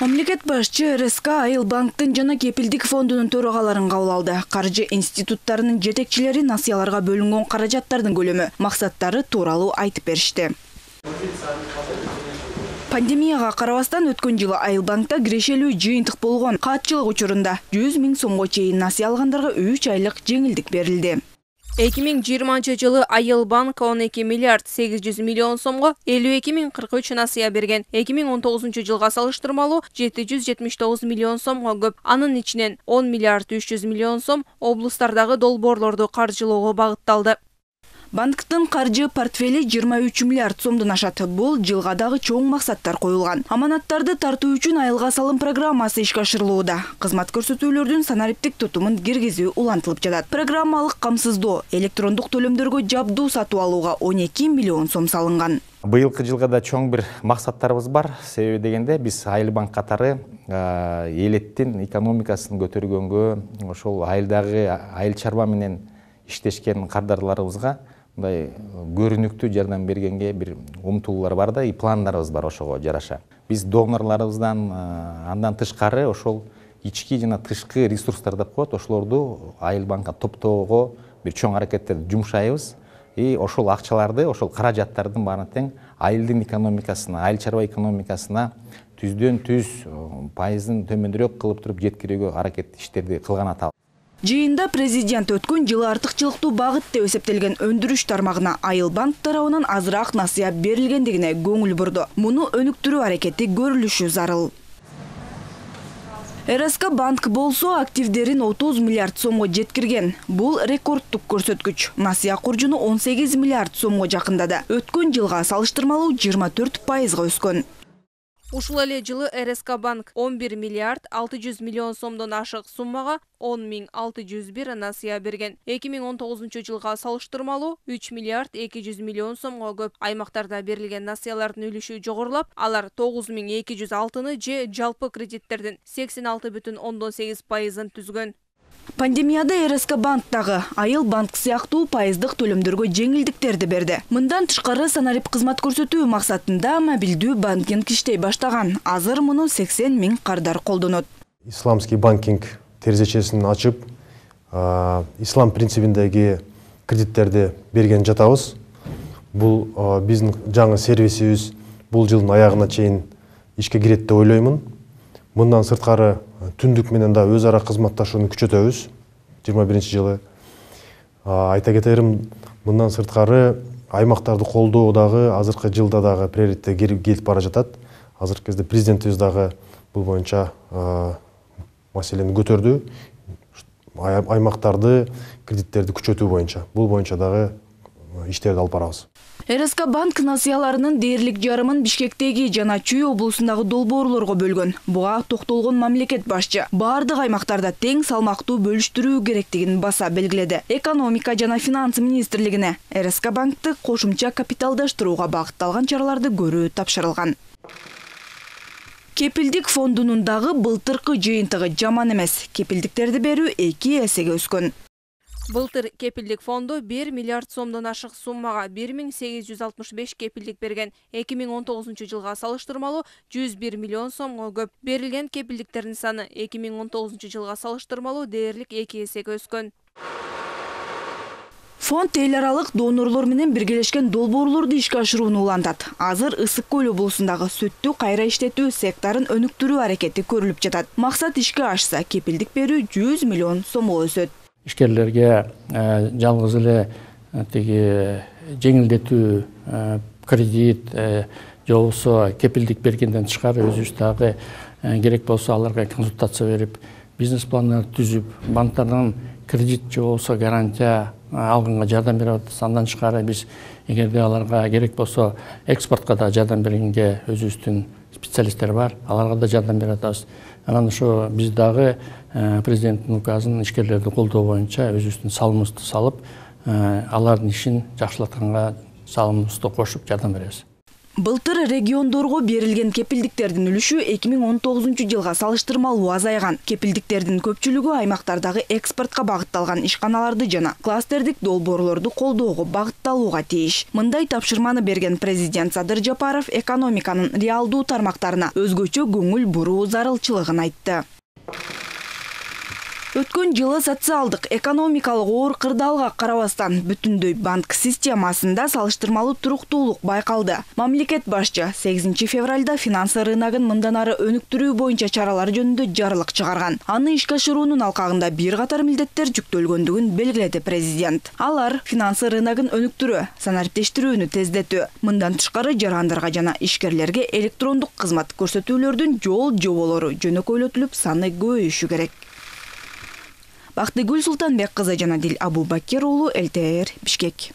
Мамлекет башчы РСК Айыл банктын жана кепилдик фондунун төрагаларын кабыл алды. Каржы институттарынын жетекчилери насыяларга бөлүнгөн каражаттардын көлөмү, максаттары тууралуу айтып беришти. Пандемияга карабастан өткөн жылы Айыл банкта кирешелүү жыйынтык болгон. Каатчылык учурунда 100 000 сомго чейин насыя алгандарга 3 айлык жеңилдик берилди. 2020 жылы Айыл банк 12 миллиард 800 миллион сомго 52.043 насыя берген. 2019 жылга салыштырмалуу 779 миллион сомго көп. Анын ичинен 10 миллиард 300 миллион сом облустардагы долбоорлорду каржылоого багытталды. Банктын каржы портфели 23 миллиард сомдон ашат. Бул жылга дагы чоң максаттар коюлган. Аманаттарды тартуу үчүн айылга салым программасы ишке ашырылууда. Кызмат көрсөтүүлөрдүн санариптик тутумун киргизүү улантылып жатат. Программалык камсыздоо, электрондук төлөмдөргө жабдуу сатып алууга 12 миллион сом салынган. Быйылкы жылга да чоң бир максаттарыбыз бар. Себеби дегенде биз Айыл банк катары элеттин экономикасын көтөргөнгө, ошол айылдагы айыл чарба менен иштешкен кардарларыбызга мындай көрүнүктүү жардам бергенге бир умтулуулар бар да, пландарыбыз бар ошого жараша. Биз донорларыбыздан андан тышкары ошол ички жана тышкы ресурстар деп коет, ошолорду Айыл банкка топтоого бир чоң аракеттерди жумшайбыз. И ошол акчаларды, ошол каражаттардын баарын тең айылдын экономикасына, айыл чарба экономикасына түздөн түз пайызын төмөнүрөөк кылып туруп жеткирүүгө аракет иштерди кылган атабыз. Жыйында президент өткөн жылы артыкчылыктуу багыт деп эсептелген өндүрүш тармагына Айыл банк тарабынан азыраак насыя берилгендигине көңүл бурду. Муну өнүктүрүү аракети көрүлүшү зарыл. РСК банк болсо активдерин 30 миллиард сомго жеткирген. Бул рекордтук көрсөткүч. Насыя куржуну 18 миллиард сомго жакындады. Өткөн жылга салыштырмалуу 24%га өскөн. Ушул эле жылы РСК банк 11 миллиард 600 миллион сомдон ашык суммага 10 601 насыя берген. 2019 жылга салыштырмалуу 3 миллиард 200 миллион сомго көп. Аймактарда берилген насыялардын үлүшү жогорулап, алар 9206-ны же жалпы кредиттердин 86,8%-ын түзгөн. Пандемияда РСК банктагы Айыл банк сыяктуу пайыздык төлөмдөргө жеңилдиктерди берди. Мындан тышкары санарип кызмат көрсөтүү максатында мобилдүү банкинг иштей баштаган. Азыр муну 80 000 кардар колдонот. Исламский банкинг терезечесин ачып, ислам принцибиндеги кредиттерди берген жатабыз. Бул биздин жаңы сервисибиз бул жылдын аягына чейин ишке кирет деп ойлоймун. Мындан сырткары түндүк менен да өз ара кызматташууну күчөтөбүз 21-жылы. Айта кетерим, мындан сырткары аймактарды колдоо дагы азыркы жылда дагы приоритетке келип бара жатат. Азыркы кезде президентибиз дагы бул боюнча маселени көтөрдү. Аймактарды кредиттерди күчөтүү боюнча. Бул боюнча дагы иштерди алып барабыз. РСК банк насыяларынын дээрлик жарымын Бишкектеги жана Чүй облусундагы долбоорлорго бөлгөн. Буга токтолгон мамлекет башчы бардык аймактарда тең салмактуу бөлүштүрүү керектигин баса белгиледи. Экономика жана финанс министрлигине РСК банкты кошумча капиталдаштырууга багытталган чараларды көрүү тапшырылган. Кепилдик фондунун дагы былтыркы жыйынтыгы жаман эмес. Кепилдиктерди берүү 2 эсеге өскөн. Былтыр кепилдик фонду 1 миллиард сомдон ашык суммага 1865 кепилдик берген. 2019 жылга салыштырмалуу 101 миллион сомго көп. Берилген кепилдиктердин саны 2019 жылга салыштырмалуу дээрлик 2 эсеге өскөн. Фонд эл аралык донорлор менен биргелешкен долбоорлорду ишке ашырууну улантат. Азыр Ысык көл облусундагы сүттү кайра иштетүү секторун өнүктүрүү аракети көрүлүп жатат. Максат ишке ашса, кепилдик берүү 100 миллион сомго өсөт. Ишкерлерге жалгыз эле тиги жеңилдетүү кредит же болбосо кепилдик бергенден тышкары өзүбүз дагы керек болсо аларга консультация берип, бизнес пландар түзүп, банктардан кредит же болбосо гарантия алганга жардам берип атабыз. Андан тышкары биз эгерде аларга керек болсо экспортко да жардам бергенге өзүбүздүн специалисттер бар, аларга да жардам берип атабыз. Анан ошо биз дагы президенттин указын ишкерлерди колдоо боюнча өзүбүздүн салымыбызды салып, алардын ишин жакшыртканга салымыбызды кошуп жардам беребиз. Былтыр региондорго берилген кепилдиктердин үлүшү 2019 жылга салыштырмалуу азайган. Кепилдиктердин көпчүлүгү аймактардагы экспортко багытталган ишканаларды жана кластердик долбоорлорду колдоого багытталууга тийиш. Мындай тапшырманы берген президент Садыр Жапаров экономиканын реалдуу тармактарына өзгөчө көңүл буруу зарылчылыгын айтты. Өткөн жылы социалдык экономикалык оор кырдаалга карабастан бүтүндөй банк системасында салыштырмалуу туруктуулук байкалды. Мамлекет башчы 8 февралда финансы рыногун мындан ары өнүктүрүү боюнча чаралар жөнүндө жарлык чыгарган. Аны ишке ашыруунун алкагында бир катар милдеттер жүктөлгөндүгүн белгиледи президент. Алар финансы рыногун өнүктүрүү, санариптештирүүнү тездетүү, мындан тышкары жарандарга жана ишкерлерге электрондук кызмат көрсөтүүлөрдүн жол жоболору жөнөкөйлөтүлүп, саны көбөйүшү керек. Бактыгүл Султанбек кызы жана Дил Абубакир уулу, ЛТР, Бишкек.